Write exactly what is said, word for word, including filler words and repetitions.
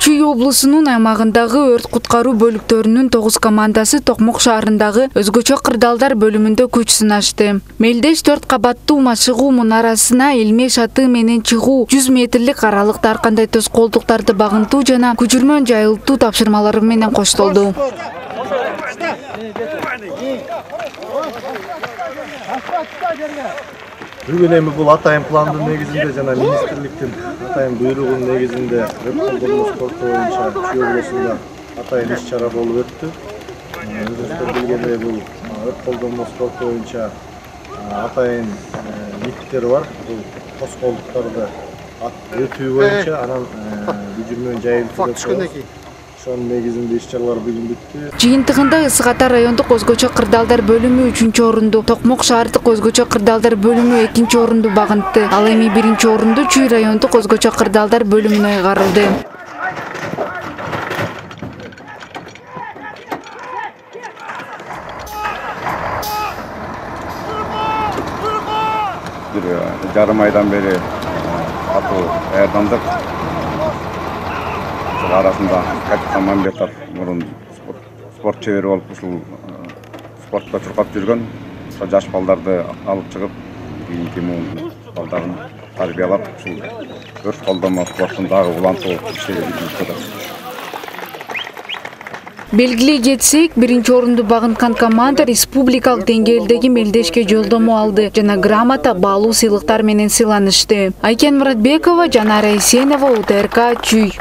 Чүй облусунун аймагындагы өрт куткаруу бөлүктөрүнүн тогуз командасы Токмок шаарындагы өзгөчө кырдаалдар бөлүмүндө күч сынашты. Мелдеш төрт кабаттуу машыгуу мунарасына илме шаты менен чыгуу, жүз метрлик аралыкта ар кандай тоскоолдуктарды багынтуу жана көчүрмө жайылтуу тапшырмалары менен коштолду. Бүгүн эми бул атайын пландын негизинде жана министрликтин атайын буйругунун негизинде өрт колдонуу спорту боюнча Чүй облусунда атайын иш-чара болуп өттү. Өзүңүздөр билгендей бул өрт колдонуу спорту боюнча атайын миттер бар. Бул тоскоолдуктарды өтүү боюнча анан көчүрмө жайылтуу ошонун негизинде иш-чаралар бүгүн бүттү. Жыйынтыгында Ысык Ата райондук өзгөчө кырдаалдар бөлүмү үчүнчү орунду, Токмок шаардык өзгөчө кырдаалдар бөлүмү экинчи орунду багынтты. Ал эми биринчи орунду Чүй райондук өзгөчө кырдаалдар бөлүмүнө ыйгарылды. Бир жарым айдан бери атуу даярдандык. Арасында Капитан Мамбетов мурун спорт чебери болуп ушул спортто чуркап жүргөн. Ошо жаш балдарды алып чыгып, кийинки муун балдарын тарбиялап, ушул өрт колдонуу спортун дагы улантуу иштерин жүргүзөт. Белгилей кетсек, биринчи орунду багынткан команда республикалык деңгээлдеги мелдешке жолдомо алды жана грамота, баалуу сыйлыктар менен сыйланышты. Айкен Муратбекова, Жанара Эсенова, У Т Р К, Чүй.